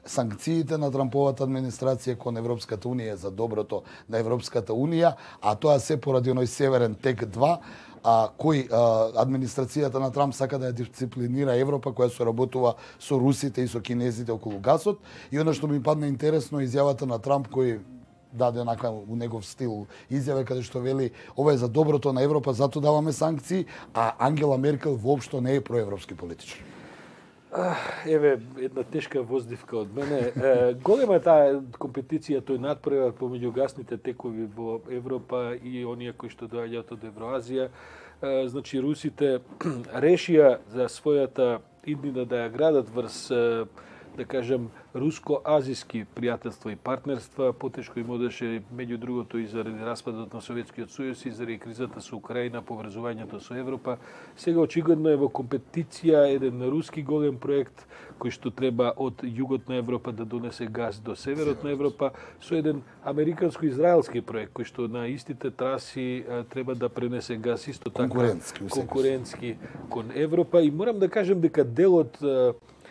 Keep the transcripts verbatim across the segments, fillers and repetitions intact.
санкциите на Трамповата администрација кон Европската унија за доброто на Европската унија, а тоа се поради оној Северен тек два, а, кој а, администрацијата на Трамп сака да ја дисциплинира Европа, која соработува со русите и со кинезите околу гасот. И оно што ми падна интересно изјавата на Трамп, кој даде онака у негов стил изјаве каде што вели ова е за доброто на Европа, затоа даваме санкции, а Ангела Меркел воопшто не е проевропски политичар. Еве, една тешка воздивка од мене. Голема таа компетиција, тој надпревар помеѓу гасните текови во Европа и оние кои што доаѓаат од Евроазија. Значи, русите решија за својата иднина да ја градат врз, да кажем, руско-азиски пријателства и партнерства. Потешко им одеше, меѓу другото, и заради распадот на Советскиот сојуз и заради кризата со Украина, поврзувањето со Европа. Сега очигледно е во компетиција еден руски голем проект кој што треба од југот на Европа да донесе газ до северот на Европа, со еден американско-израелски проект кој што на истите траси треба да пренесе газ исто така конкурентски, конкурентски кон Европа. И морам да кажем дека дел од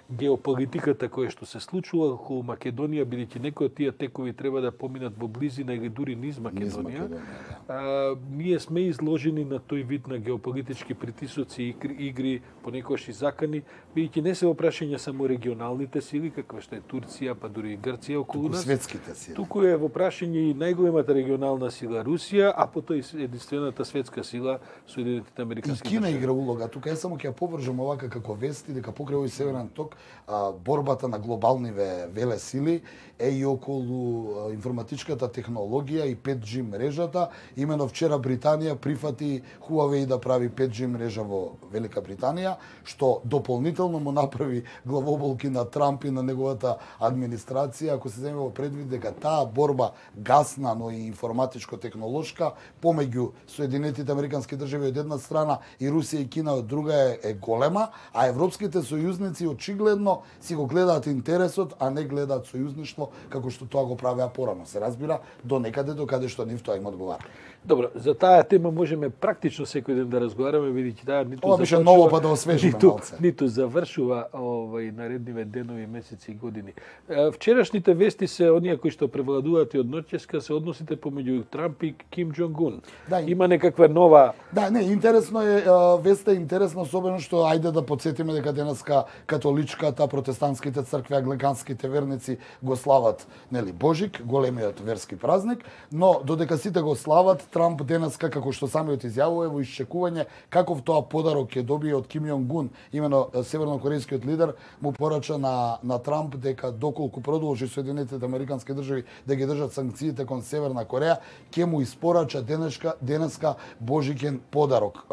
геополитиката која што се случува околу Македонија, бидејќи некои од тие текови треба да поминат во близина или дури низ Македонија, да. а, ние сме изложени на тој вид на геополитички притисоци и игри, понекогаш и закани, бидејќи не се опрашање само регионалните сили, каква што е Турција, па дури и Грција околу нас. Светските сили. Туку е во прашање и најголемата регионална сила Русија, а потоа и единствената светска сила Соединетите американски држави. И Кина игра улога. Тука е само ќе ја повржам овака како вести дека покрај овој Северен ток а, борбата на глобалниве веле сили е и околу информатичката технологија и пет джи мрежата. Имено вчера Британија прифати Huawei да прави пет джи мрежа во Велика Британија, што дополнително му направи главоболки на Трамп и на неговата администрација, ако се земе во предвид дека таа борба гасна, но и информатичко-технолошка помеѓу Соединетите американски држави од една страна и Русија и Кина од друга е, е голема, а европските сојузници очигледно си го гледаат интересот, а не гледаат сојузништво како што тоа го правеа порано. Се разбира, до некаде до каде што нив тоа им одговара. Добро, за таа тема можеме практично секој ден да разговараме, видејќи таа ниту Ова беше ново па да освежиме ниту, малце. Ниту завршува овај наредниве денови, месеци и години. Вчерашните вести се оние кои што превладуваат и од ноќеска се односите помеѓу Трамп и Ким Џонг Ун. Да, има некаква нова. Да, не, интересно е, веста е интересно, особено што ајде да потсетиме дека денеска католичката, протестантските цркви, англиканските верници го слават, нели, Божик, големиот верски празник, но додека сите го слават, Трамп денеска, како што самиот изјавува, во исчекување каков тоа подарок ќе добие од Ким Јонг Ун, имено севернокорејскиот лидер, му порача на, на Трамп дека доколку продолжи Соединетите американски држави да ги држат санкциите кон Северна Кореја, ќе му испорача денеска, денеска Божикен подарок.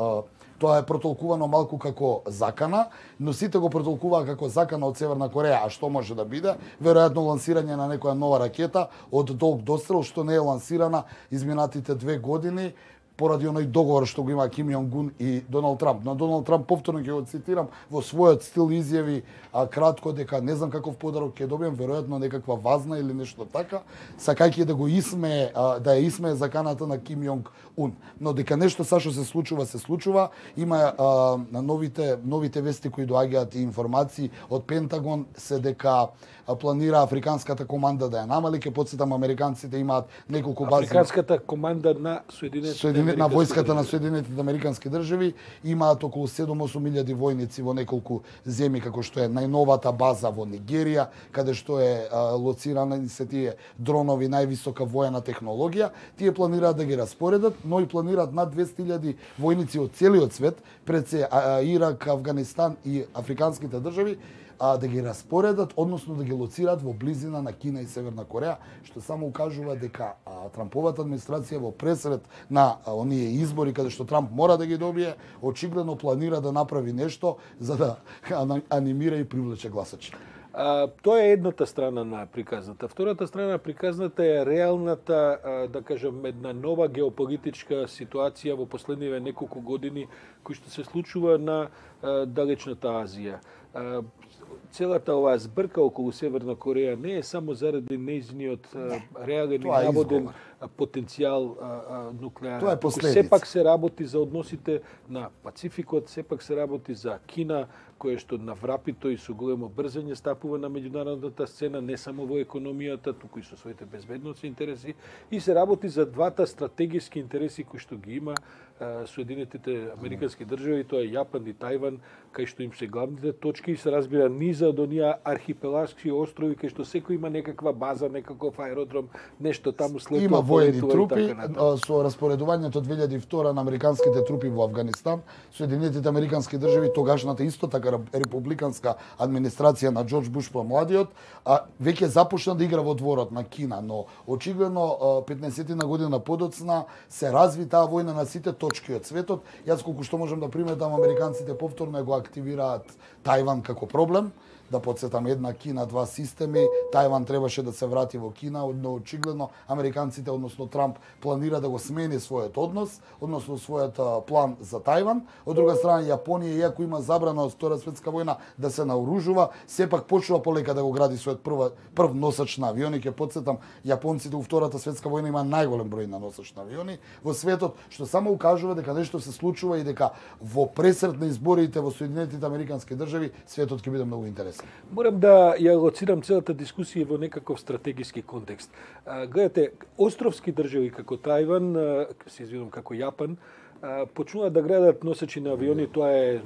Тоа е протолкувано малку како закана, но сите го протолкуваа како закана од Северна Кореја, а што може да биде? Веројатно лансирање на некоја нова ракета од долг дострел, што не е лансирана изминатите две години, поради оној договор што го има Ким Јонг Ун и Доналд Трамп. Но Доналд Трамп, повторно ќе го цитирам, во својот стил изјави а, кратко дека не знам каков подарок ќе добием, веројатно некаква вазна или нешто така, сакајќи да го исмее, а, да ја исмее заканата на Ким Јонг Ун. Но дека нешто сашо се случува, се случува. Има а, новите новите вести кои доаѓаат и информации од Пентагон се дека планира африканската команда да ја намали. Ке потсетам, американците имаат неколку бази. Африканската команда на Соединетите Соединет, на војската на Соединетите американски држави имаат околу седум-осум илјади војници во неколку земји, како што е најновата база во Нигерија, каде што е а, лоцирана се тие дронови, највисока воена технологија. Тие планираат да ги распоредат, но и планираат над двесте илјади војници од целиот свет, пред се а, Ирак, Афганистан и африканските држави, а, да ги распоредат, односно да ги лоцираат во близина на Кина и Северна Кореја, што само укажува дека а, Трамповата администрација во пресред на а, оние избори каде што Трамп мора да ги добие, очигледно планира да направи нешто за да анимира и привлече гласачи. А, тоа е едната страна на приказната. Втората страна на приказната е реалната, а, да кажем, една нова геополитичка ситуација во последниве неколку години кој што се случува на а, далечната Азија. А, целата оваа збрка околу Северна Кореја не е само заради нејзиниот реален и наводен потенцијал нуклеарен. Тоа е последица. Сепак се работи за односите на Пацификот, сепак се работи за Кина, која што наврапито и со големо брзање стапува на меѓународната сцена, не само во економијата, туку и со своите безбедносни интереси, и се работи за двата стратегиски интереси кои што ги има Соединетите Американски држави, тоа е Јапан и Тајван, кај што им се главните точки и се разбира низа од оние архипелагски острови кај што секој има некаква база, некаков аеродром, нешто таму слетува, има воени полетува трупи и така натаму. со распоредувањето две илјади и втора на американските трупи во Авганистан, Соединетите Американски држави, тогашната исто така републиканска администрација на Џорџ Буш помладиот, а веќе започна да игра во дворот на Кина, но очигледно петнаесеттина година подоцна се разви таа војна на сите точки од светот. Јас колку што можам да приметам, американците повторно го активираат Тајван како проблем. Да подсетам, една Кина, два системи, Тајван требаше да се врати во Кина, но очигледно американците, односно Трамп, планира да го смени својот однос, односно својот план за Тајван. Од друга страна, Јапонија, иако има забрана од Втора светска војна да се наоружува, сепак почнува полека да го гради својот прв, прв носач на авиони. Ќе подсетам, јапонците во Втората светска војна има најголем број на носач на авиони во светот, што само укажува дека нешто се случува и дека во пресрет на изборите во Соединетите Американски држави светот ќе биде многу интересен. Морам да ја лоцирам целата дискусија во некаков стратегиски контекст. А, гледате, островски држави како Тајван, а, се извинувам, како Јапан, а, почнуваат да градат носачи на авиони, тоа е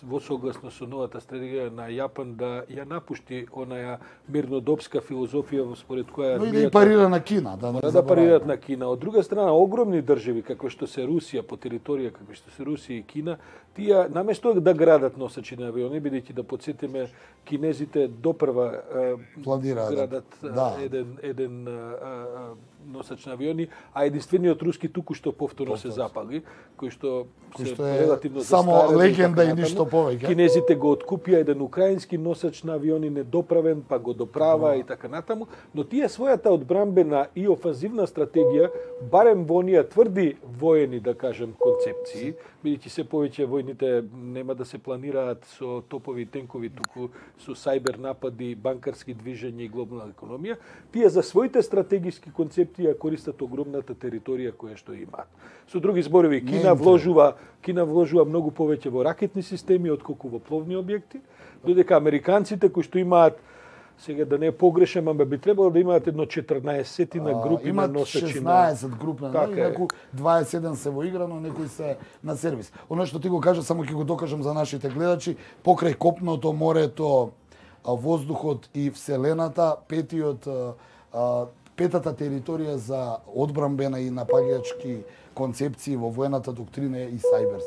во согласно со новата стратегија на Јапан да ја напушти онаја мирнодопска филозофија според која но и да и парира на Кина, да не да парираат на Кина. Од друга страна, огромни држави како што се Русија по територија, како што се Русија и Кина, тие наместо да градат носачи на авиони, бидејќи да подсетиме, кинезите допрва планираат градат да. еден еден а, носач на авиони, а единствениот руски туку што повторно се запали, кој што кој се што е релативно само легенда и ништо повеќе. Кинезите го откупија еден украински носач на авиони недоправен, па го доправа и така натаму, но тие својата одбранбена и офанзивна стратегија, барем во оние тврди воени, да кажем, концепции, бидејќи се повеќе војните нема да се планираат со топови и тенкови, туку со сајбер напади, банкарски движења и глобална економија, тие за своите стратегиски концепции ја користат огромната територија која што имаат. Со други зборови, Кина вложува, Кина вложува многу повеќе во ракетни системи отколку во пловни објекти, додека американците кои што имаат, сега да не погрешам, ама би требало да имаат едно четрнаесет-тина групи на носачи. Имаат шеснаесет групи, така некои дваесет и седум се во игра, но некои се на сервис. Оно што ти го кажа, само ќе го докажам за нашите гледачи, покрај копното, морето, воздухот и вселената, петиот петата територија за одбранбена и напаѓачки концепции во воената доктрина и сајбер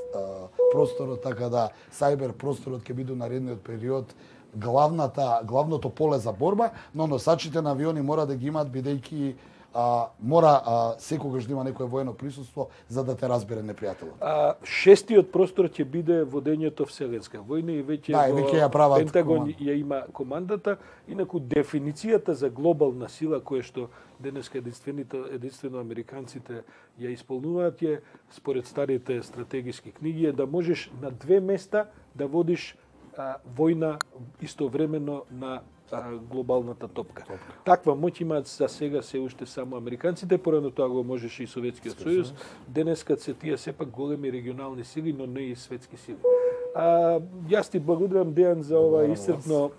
просторот, така да сајбер просторот ќе биде наредниот период главната главното поле за борба, но носачите на авиони мора да ги имаат бидејќи а, мора а, секогаш да има некое воено присуство за да те разбере непријателот. А, шестиот простор ќе биде водењето вселенска војна и веќе да, во веќе ја прават Пентагон команд. ја има командата, инаку дефиницијата за глобална сила која што денеска единствено американците ја исполнуваат е според старите стратегиски книги е да можеш на две места да водиш а, војна истовремено на глобалната топка. топка. Таква моќ имаат за сега се уште само американците, порано тоа го можеше и Советскиот сојуз. Денеска се тие сепак големи регионални сили, но не и светски сили. А, јас ти благодарам, Дејан, за ова исцрпно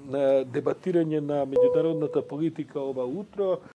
дебатирање на меѓународната политика ова утро.